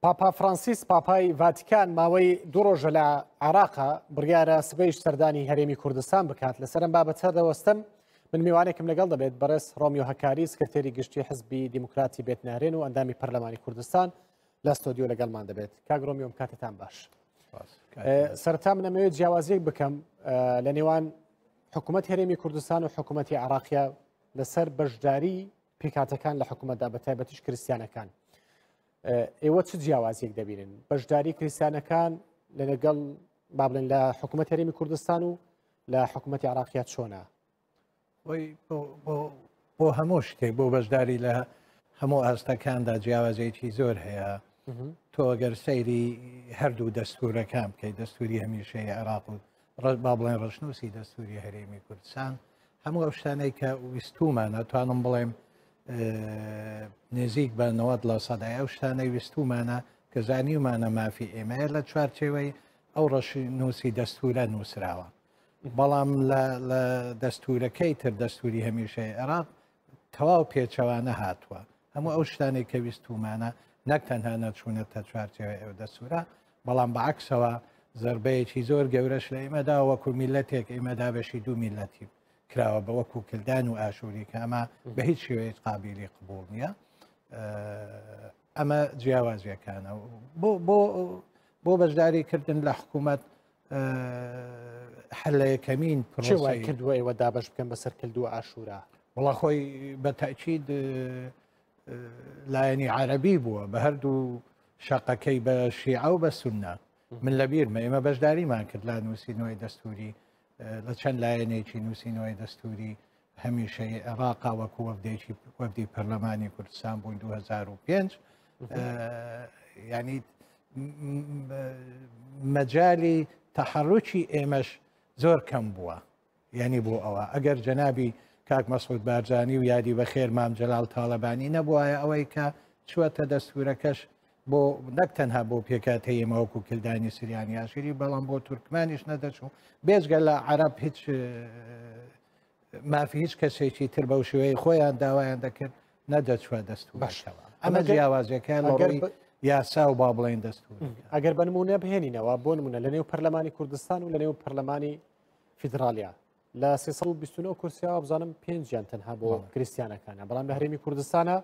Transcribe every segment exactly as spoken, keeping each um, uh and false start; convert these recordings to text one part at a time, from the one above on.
پاپا فرانسیس پاپای ڤاتیکان ماوەی دوو ڕۆژە لە عێراقا بڕیارە سبەیش سەردانی هەرێمی کوردستان بکات. لەسەر ئەم بابەتە دەوەستم. من میوانێکم لەگەڵ دەبێت، بەڕێز ڕۆمیۆ هەکاری، سکرتێری گشتی حزبی دیموکراتی بێتنارێن و ئەندامی پەرلەمانی کوردستان لە ستۆدیۆ لەگەڵمان دەبێت. کاک ڕۆمیۆم، کاتتان باش. سەرەتا من ئەمەوێت جیاوازیەک بکەم لە نێوان حکوومەت هەرێمی کوردستان و حکوومەتی عێراقیە لەسەر بەشداری پێکهاتەکان لە حکوومەتدا، بە تایبەتیش کریسیانەکان. ئێوە چ جیاوازیەک دەبینن بەشداری کریسیانەکان لە لەگەڵ با بڵێن لە حکوومەت هەرێمی کوردستان و لە حکوومەتی عێراقیە چۆنە؟ بۆ هەموو شتێک، بۆ بەشداری لە هەموو ئاستەکاندا جیاوازێکی زۆر هەیە. تۆ ئەگەر سەیری هەردوو دەستورەکان بکەیت، دەستوری هەمیشەی عێراق و با بڵێن ڕەشنووسی دەستوری هەرێمی کوردستان، هەموو ئەو شتانەی کە ویستومانە، توانم بڵێم نزیک بە نەوەد لە سەدای ئەو شتانەی ویستومانە کە زانیومانە مافی ئێمەیە لە چوارچێوەی ئەو ڕەشنووسی دەستورە نووسراوە. بەڵام لە دەستورەکەی تر، دەستوری هەمیشەی عێراق، تەواو پێچەوانە هاتووە. هەموو ئەو شتانەی کە ویستومانە نەک تەنها نەچوونەتە چوارچێوەی ئەو دەستورە، بەڵام بەعکسەوە زربەیەکی زۆر گەورەش لە ئێمەدا وەکو میلەتێک ئێمەدا بەشی دوو میلەتی کراوە بە وەکو کلدان و ئاشووری، کە ئەمە بە هیچ شێوەیەک قابلی قبوڵ نییە. ئەمە جیاوازیەکانە. بۆ بەشداریکردن لە حکوومەت هەر لە یەکەمین پرۆسەی کردووە ئێوە دابەش بکەن بەسەر کلد و ئاشوورا؟ وەڵا خۆی بە تەئکید لایەنی عەرەبی بووە بە هەردوو شەقەکەی، بە شیعە و بە سوننە. من لەبیرمە ئێمە بەشداریمان کرد لە نووسینەوەی دەستوری، لە چەند لایەنێکی نووسینەوەی دەستوری هەمیشەی عێراقا وەکو وەفدێکی وەفدی پەرلەمانی کوردستان بووین دوو هەزار و پێنج. ینی مەجالی تەحەڕوکی ئێمەش زۆر کەم بووە. یعنی بۆ ئەوە ئەگەر جەنابی کاک مەسعود بارزانی و یادی بەخێر مام جەلال تاڵەبانی نەبوایە، ئەوەی کە چووەتە دەستورەکەش بۆ نەک تەنها بۆ پێکهاتەی ئێمە وەکو کلدانی سریانی ئاشووری، بەڵام بۆ تورکمانیش نەدەچوو. بێجگە لە عەرەب هیچ مافی هیچ کەسێکی تر بەو شێوەیە خۆیان داوایان دەکرد نەدەچووە دەستورەکەوە. ئەمە جیاوازیەکە لە ڕووی یاسا و با بڵێن دەستور. ئەگەر بە نمونە بهێنینەوە، بۆ نمونە لە نێو پەرلەمانی کوردستان و لە نێو پەرلەمانی فیدراالیا لە سێ سەد و بیست و نۆ کورسیاوە بزانم پێنجیان تەنها بۆ کریسیانەکانە، بەڵام لە هەرێمی کوردستانە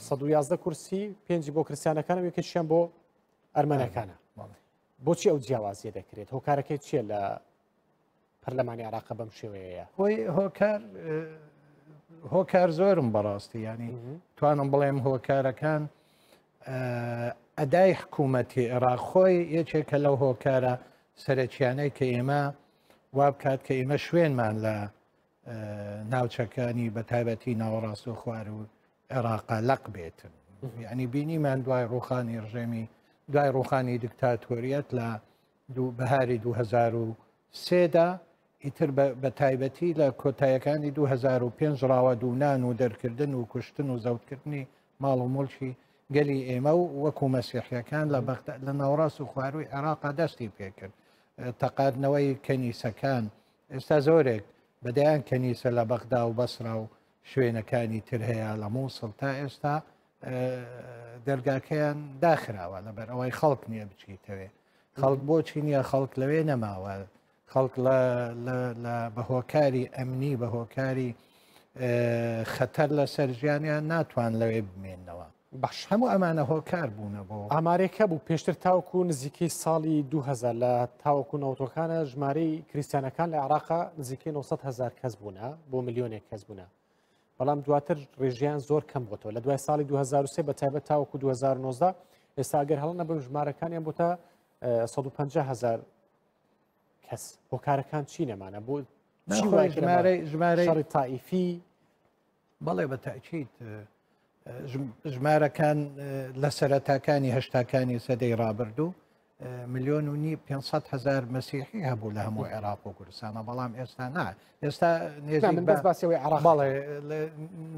سەد و یازدە کورسی، پێنجی بۆ کریسیانەکانە و یەکێکیان بۆ ئەرمەنەکانە. بۆچی ئەو جیاوازیە دەکرێت؟ هۆکارەکەی چییە لە پەرلەمانی عێراق بەم شێوەیە؟ هۆی هۆکار هۆکار زۆرم بەڕاستی، ینی توانم بڵێم هۆکارەکان ئەدای حکوومەتی عێراق خۆی یەکێکە لەو هۆکارە سەرەکیانەی کە ئێمە وا بکات کە ئێمە شوێنمان لە ناوچەکانی بە تایبەتی ناوەڕاست و خوار و عێراقا لەق بێتن. یعنی بینیمان دوای ڕوخانی ڕژێمی، دوای ڕوخانی دیکتاتۆریەت لە بەهاری دوو هەزار و سێدا، ئیتر بە تایبەتی لە کۆتایەکانی دوو هەزار و پێنج ڕاوەدوونان و دەرکردن و کوشتن و زەوتکردنی ماڵ و مڵکی گەلی ئێمە و وەکو مەسیحیەکان لە بەغدا لە ناوەڕاست و خواروی عێراقا دەستی پێکرد. تەقاردنەوەی کەنیسەکان، ئێستا زۆرێک بەدەیان کەنیسە لە بەغدا و بەسرا و شوێنەکانی تر هەیە لە مووسڵ تا ئێستا دەرگاکەیان داخراوە لەبەر ئەوەی خەڵک نییە بچیتەوێ. خەڵک بۆچی نییە؟ خەڵک لەوێ نەماوە. خەڵک بە هۆکاری ئەمنی، بە هۆکاری خەتەر لەسەر ژیانیان ناتوان لەوێ بمێننەوە. باش، هەموو ئەمانە هۆکار بوونە بۆ ئامارێکە بوو پێشتر تاوەکو نزیکەی ساڵی دوو هەزار لە تاوەکو نەوتۆکانە ژمارەی کریسیانەکان لە عێراقا نزیکەی نۆ سەد هەزار کەس بوونە بۆ ملیۆنێک کەس بوونە، بەڵام دواتر ڕێژیان زۆر کەم بۆتەوە لە دوای ساڵی دوو هەزار و سێ بە تایبەت تاوەکو دوو هەزار و نۆزدە. ئێستا ئەگەر هەڵە نەبم ژمارەکانیان بۆتە سەد و پەنجا هەزار کەس. هۆکارەکان چی نەمانە بۆ ژمارەی شەڕی تائیفی؟ بەڵێ بە تەئکید ژمارەکان لە سەرەتاکانی هەشتاکانی سەدەی ڕابردوو ملیۆن و نی پێنج سەد هەزار مەسیحی هەبوو لە هەموو عێراق و کوردستانە، بەڵام ئێستا نا. ئێستا نزیک بەڵێ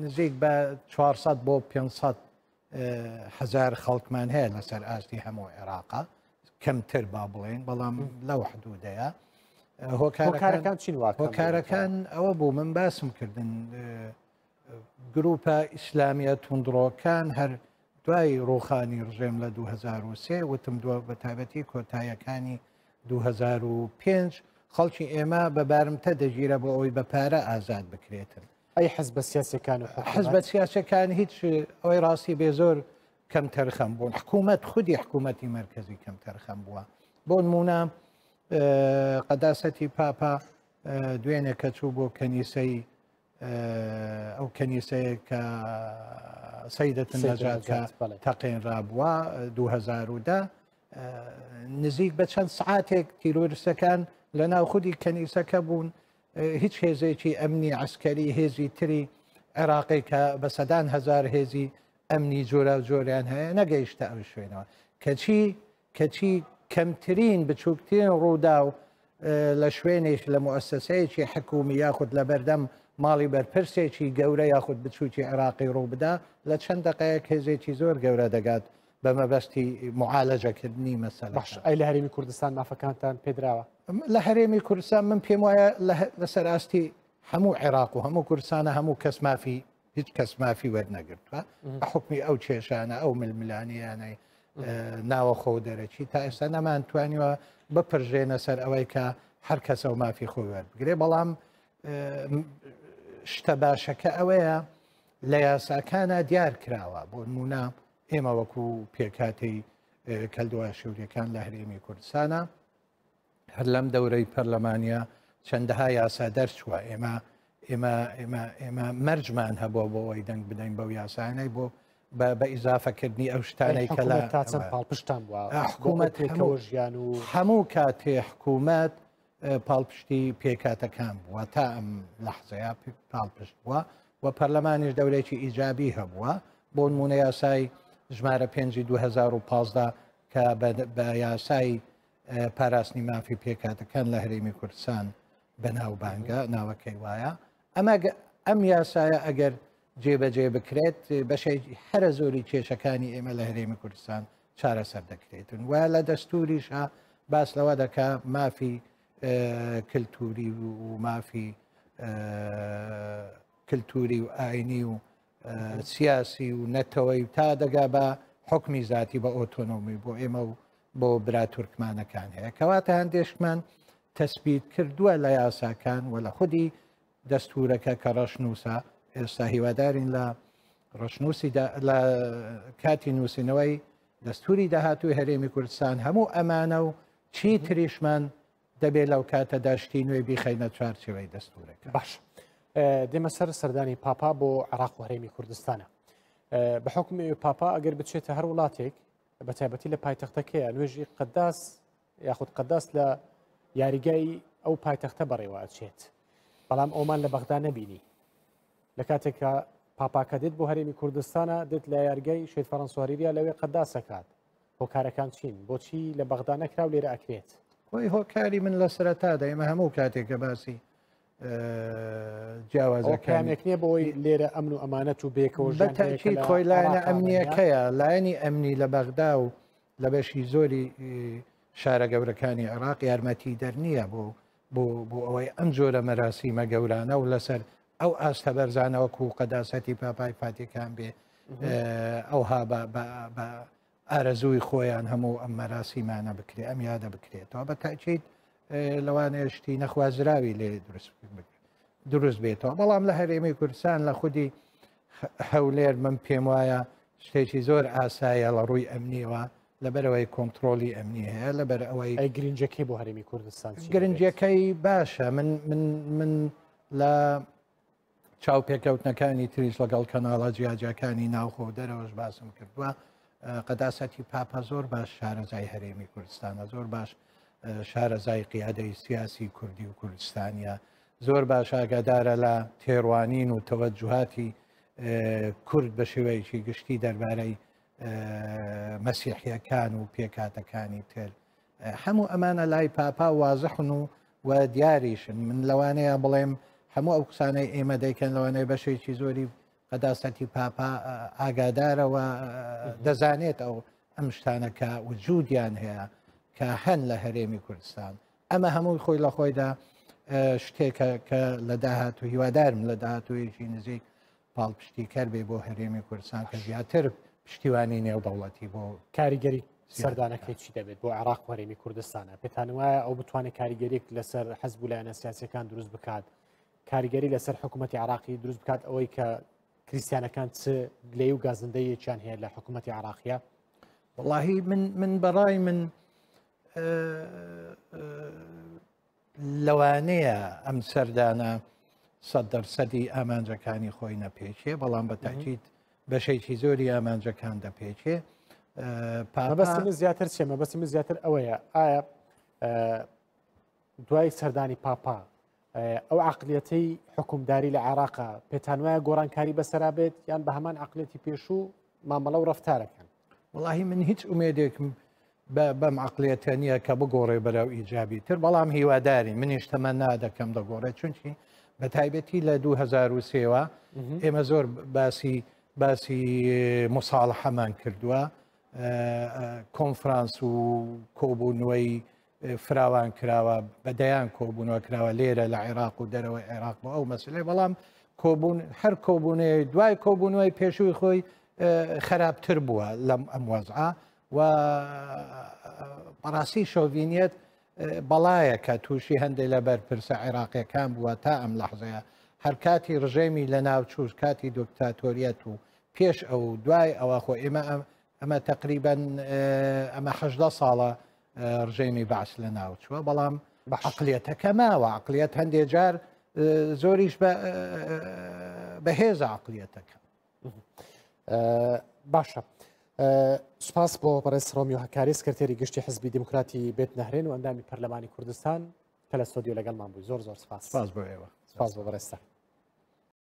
نزیک بە چوار سەد بۆ پێنج سەد هەزار خەڵکمان هەیە لەسەر ئاستی هەموو عێراقا، کەمتر با بڵێن، بەڵام لەو حدودەیە. هۆکارەکان چین؟ هۆکارەکان ئەوە بوو من باسم کردن، گروپە ئیسلامیە توندڕۆکان هەر دوای ڕوخانی ڕژێم لە دوو هەزار و سێ وتم دووە بە تایبەتی کۆتاییەکانی دوو هەزار و پێنج خەڵکی ئێمە بە بارمتە دەگیرە بۆ ئەوەی بە پارە ئازاد بکرێتن. ئەی حزبە سیاسەکان و حزبە سیاسەکان هیچ ئەوەی ڕاستی بێ زۆر کەم تەرخەم بوون. حکوومەت خودی حکوومەتی مەرکەزی کەم تەرخەم بووە. بۆ نمونە قەداسەتی پاپا دوێنێ کە چوو بۆ کەنیسەی ئەو کەنیسەیە کە سەیدەت نەجات کە تەقێنرا بووە دوو هەزار و دە نزیک بە چەند سعاتێک تیرۆریستەکان لە ناو خودی کەنیسەکە بوون. هیچ هێزێکی ئەمنی عسکەری هێزی تری عێراقی کە بە سەدان هەزار هێزی ئەمنی جۆرا و جۆریان هەیە نەگەیشتە ئەو شوێنەوە. کەچی کەچی کەمترین بچووکترین ڕوودا و لە شوێنێک لە موئەسەسەیەکی حکوومی یاخود لە بەردەم ماڵی بەرپرسێکی گەورە یاخود بچووکی عێراقی ڕوو بدا لە چەند دقەیەک هێزێکی زۆر گەورە دەگات بە مەبەستی معالەجەکردنی مەسەلە. باش، ئەی لە هەرێمی کوردستان مافەکانتان پێدراوە؟ لە هەرێمی کوردستان من پێم وایە لەسەر ئاستی هەموو عێراق و هەموو کوردستانە هەموو کەس مافی هیچ کەس مافی وەرنەگرتووە بە حکمی ئەو کێشانە ئەو ململانیانەی ناوەخۆ و دەرەکی تا ئێستا نەمانتوانیوە بپرژێنە سەر ئەوەی کە هەر کەسە و مافی خۆی وەربگرێ. بەڵام شتە باشەکە ئەوەیە لە یاساکانە دیار کراوە. بۆ نمونە ئێمە وەکو پێکهاتەی کەلدووە شووریەکان لە هەرێمی کوردستانە هەر لەم دەورەی پەرلەمانیە چەندەها یاسا دەرچووە. ئێمە ئێمە ئێمە ئێمە مەرجمان هەبووە بۆ ئەوەی دەنگ بدەین بەو یاسانەی بۆ بە ئیزافەکردنی ئەو شتانەی کە لە تا چەند پاڵپشتان بووە؟ حکوومەت پێکەوە ژیان و هەموو کاتێ حکوومەت پاڵپشتی پێکاتەکان بووە تا ئەم لەحزەیە پاڵپشت بووە و پەرلەمانیش دەورێکی ئیجابی هەبووە. بۆ نمونە یاسای ژمارە پێنجی دوو هەزار و پازدە کە بە یاسای پاراستنی مافی پێکاتەکان لە هەرێمی کوردستان بەناوبانگە ناوەکەی وایە. ئەمە ئەم یاسایە ئەگەر جێبەجێ بکرێت بەشێکی هەرە زۆری کێشەکانی ئێمە لە هەرێمی کوردستان چارەسەر دەکرێتن. و لە دەستوریشە باس لەوە دەکا مافی کللتوری و مافی کللتوری و ئاینی و سیاسی و نەتەوەی تا دەگا بە حکمی ذاتی بە ئۆتۆنۆمی بۆ ئێمە و بۆ برا تورکمانەکان هەیە. کەواتە هەندێشمان تەسبیت کردووە لە یاساکان و لە خودی دەستورەکە کە ڕەشنووسە. ئێستا هیوادارین لە ڕەشنووسی لە کاتی نووسینەوەی دەستوری داهاتووی هەرێمی کوردستان هەموو ئەمانە و چی تریشمان دەبێت لەو کاتەدا شتی نوێ بیخەینە چوارچێوەی دەستورەکە. باش، دێمە سەر سەردانی پاپا بۆ عێراق و هەرێمی کوردستانە. بە حکمی پاپا ئەگەر بچێتە هەر وڵاتێک بە تایبەتی لە پایتەختەکەیە نوێژی قەداس یاخود قەداس لە یاریگای ئەو پایتەختە بەڕێوە ئەچێت، بەڵام ئەومان لە بەغدا نەبینی. لە کاتێککە پاپاکە دێت بۆ هەرێمی کوردستانە دێت لە یاریگای شەهید فەرەنسۆ هەریریا لەوێ قەداسەکات. هۆکارەکان چین؟ بۆچی لە بەغدا نەکرا و لێرە ئەکرێت؟ خۆی هۆکاری من لە سەرەتادا ئێمە هەموو کاتێک کە باسی جیاوازەکانێک نییە بۆی لێرە ئەمن و ئەمانەت و بێکەوە بە تەئکید خۆی لایەنە ئەمنیەکەیە. لایەنی ئەمنی لە بەغدا و لە بەشی زۆری شارە گەورەکانی عێراق یارمەتی دەر نییە بۆ بۆ بۆ ئەوەی ئەم جۆرە مەراسیمە گەورانە و لەسەر ئەو ئاستە بەرزانە وەکو قەداسەتی پاپای فاتیکان بێ ئەوها بە ئارەزووی خۆیان هەموو ئەم مەراسیمانە بکرێ ئەم یادە بکرێتەوە. بە تەئکید لەوانەیە شتی نەخوازراوی لێ دروست بێتەوە. بەڵام لە هەرێمی کوردستان لە خودی هەولێر من پێم وایە شتێکی زۆر ئاسایە لە ڕووی ئەمنیەوە، لەبەرەوەی کۆنتترۆلی ئەمنی هەیە، لەبەر ئەوەی ئەی گرنجەکەی بۆ هەرێمی کوردستان گرنجەکەی باشە. من من من لە چاوپێکەوتنەکانی تریش لەگەڵ کەناڵە جیاجیاکانی ناوخۆ دەرەوەش باسم کردووە. قەداسەتی پاپا زۆر باش شارەزای هەرێمی کوردستانە، زۆر باش شارەزای قیادەی سیاسی کوردی و کوردستانیە، زۆر باش ئاگادارە لە تێڕوانین و تەوەجوهاتی کورد بە شێوەیەکی گشتی دەربارەی مەسیحیەکان و پێکاتەکانی تر. هەموو ئەمانە لای پاپا وازحن و و دیاریشن. من لەوانەیە بڵێم هەموو ئەو قسانەی ئێمە دەیکەن لەوانەیە بەشێکی زۆری قەداسەتی پاپا ئاگادارەوە دەزانێت ئەو ئەم شتانە کە وجودیان هەیە کە هەن لە هەرێمی کوردستان. ئەمە هەمووی خۆی لە خۆیدا شتێکە کە لە داهاتوو هیوادارم لە داهاتوویەکی نزیک پاڵپشتیکەر بێ بۆ هەرێمی کوردستان کە زیاتر پشتیوانی نێودەوڵەتی بۆ کاریگەری سەردانەکەی چی دەبێت بۆ عێراق و هەرێمی کوردستانە؟ پێتان وایە ئەو بتوانێت کاریگەریک لەسەر حەزب و لایەنە سیاسیەکان دروست بکات، کاریگەری لەسەر حکوومەتی عێراقی دروست بکات، ئەوەی کە کریسیانەکان چ گلەی و گازندەیەکیان هەیە لە حکوومەتی عێراقیە؟ وەڵاهی من من بەڕای من لەوانەیە ئەم سەردانە سەد دەرسەدی ئامانجەکانی خۆی نەپێچێ، بەڵام بە تاکید بەشێکی زۆری ئامانجەکان دەپێچێ. مەبەستی من زیاتر چیە؟ مەبەستی من زیاتر ئەوەیە ئایا دوای سەردانی پاپا ئەو عقلیەتەی حکومداری لە عێراقا پێتان وایە گۆڕانکاری بەسەرا بێت یان بە هەمان عقلیەتی پێشوو مامەڵە و ڕەفتارەکەن؟ وەڵاهی من هیچ ئومێدێکم بەم عقلیەتە نییە کە بگۆڕێ بەرەو ئیجابی تر، بەڵام هیواداری منیش تەمەنا دەکەم دەگۆڕێت، چونکی بە تایبەتی لە دوو هەزار و سێوە ئێمە زۆر باسی باسی مصاڵحەمان کردووە، کۆنفرانس و کۆبوونەوەی فراوان کراوە، بە دەیان کۆبوونەوە کراوە لێرە لە عێراق و دەرەوەی عێراق بۆ ئەو مەسلەی، بەڵام کۆبوون هەر کۆبوونەوەی دوای کۆبوونەوەی پێشووی خۆی خراپتر بووە لەم ئەم وەزعە و بەڕاستی شۆڤینیەت بەڵایە کە تووشی هەندێک لە بەرپرسە عێراقیەکان بووە تا ئەم لەحظەیە. هەر کاتی ڕژێمی لە ناوچوو، کاتی دکتاتۆریەت و پێش ئەو دوای ئەوە خۆ ئێمە ئەمە تقریبا ئەمە حەژدە ساڵە ڕژێمی بەعس لە ناوچووە، بەڵام عقلیەتەکە ماوە. عقلیەت هەندێک جار زۆریش بەهێزە عقلیەتەکە. باشە، سوپاس بۆ بەڕێز ڕۆمیۆ هەکاری، سکرتێری گشتی حزبی دیموکراتی بێت نەهرێن و ئەندامی پەرلەمانی کوردستان کە لە ستۆدیۆ لەگەڵمان بووی. زۆر زۆر سپاس. سپاس بۆ ئێوە. سپاس بۆ بەڕێزتان.